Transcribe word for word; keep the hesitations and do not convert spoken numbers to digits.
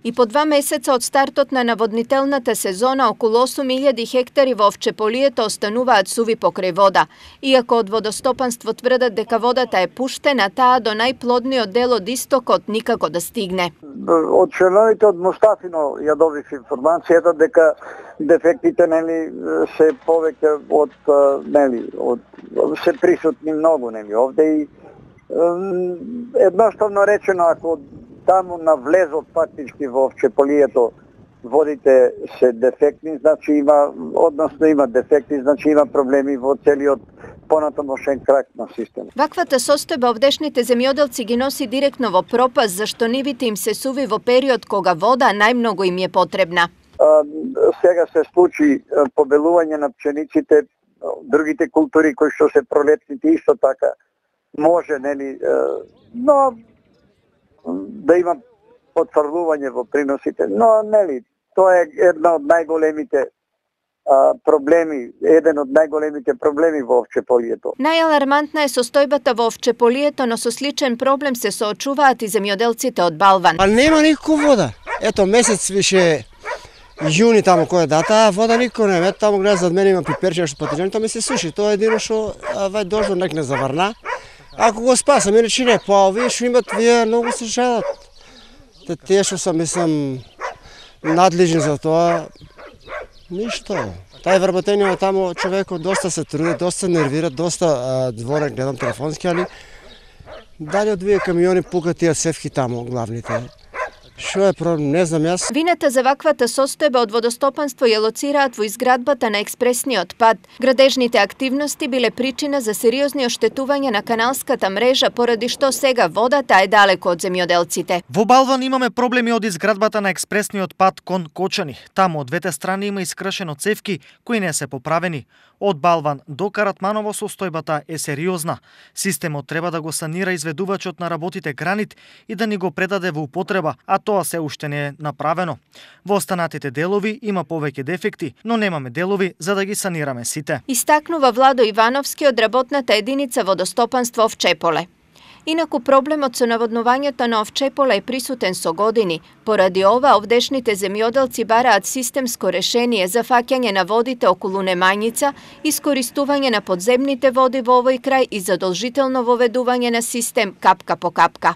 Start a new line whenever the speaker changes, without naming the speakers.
И по два месеца од стартот на наводнителната сезона, околу осум илјади хектари во Овчеполието остануваат суви покрај вода. Иако од водостопанство тврдат дека водата е пуштена, таа до најплодниот дел од истокот никако да стигне.
Од членовите од Мустафино ја добив информацијата дека дефектите нели се повеќе од нели од се присутни многу нели овде и едноставно речено, ако таму на влезот фактички во Овчеполието водите се дефектни, значи има, односно има дефекти, значи има проблеми во целиот понатамошен крак на системот.
Ваквата состојба овдешните земјоделци ги носи директно во пропаст, зашто нивите им се суви во период кога вода најмногу им е потребна.
А, сега се случи побелување на пчениците, другите култури кои што се пролетните исто така може, нели, но да има потврдување во приносите, но нели, тоа е една од најголемите а, проблеми, еден од најголемите проблеми во Овчеполието.
Најалармантна е состојбата во Овчеполието, но со сличен проблем се соочуваат и земјоделците од Балван.
А нема никако вода. Ето месец више јуни таму која дата, вода никако нема. Ето таму гледа зад мене има пиперче што патиџани, тоа ми се суши. Тоа е едино што вај дождот нек не заврна. Ако го спасам, иначе не, па овие што имат, вие многу се жалат. Те тие што са, мислам, надлежни за тоа, ништо. Тај вработење таму човекот доста се труди, доста нервира, доста дворе гледам телефонски, али дали од две камиони пукат тие севки таму, главните. Што е проблем, не знам јас.
Вината за ваквата состојба од водостопанство ја лоцираат во изградбата на експресниот пат. Градежните активности биле причина за сериозни оштетувања на каналската мрежа, поради што сега водата е далеко од земјоделците.
Во Балван имаме проблеми од изградбата на експресниот пат кон Кочани. Таму од двете страни има искршено цевки кои не се поправени. Од Балван до Каратманово состојбата е сериозна. Системот треба да го санира изведувачот на работите Гранит и да ни го предаде во употреба, а тоа се уште не е направено. Во останатите делови има повеќе дефекти, но немаме делови за да ги санираме сите.
Истакнува Владо Ивановски од работната единица водостопанство Овчеполе. Инаку проблемот со наводнувањето на Овчеполе е присутен со години. Поради ова, овдешните земјоделци бараат системско решение за фаќање на водите околу Немањица, искористување на подземните води во овој крај и задолжително воведување на систем капка по капка.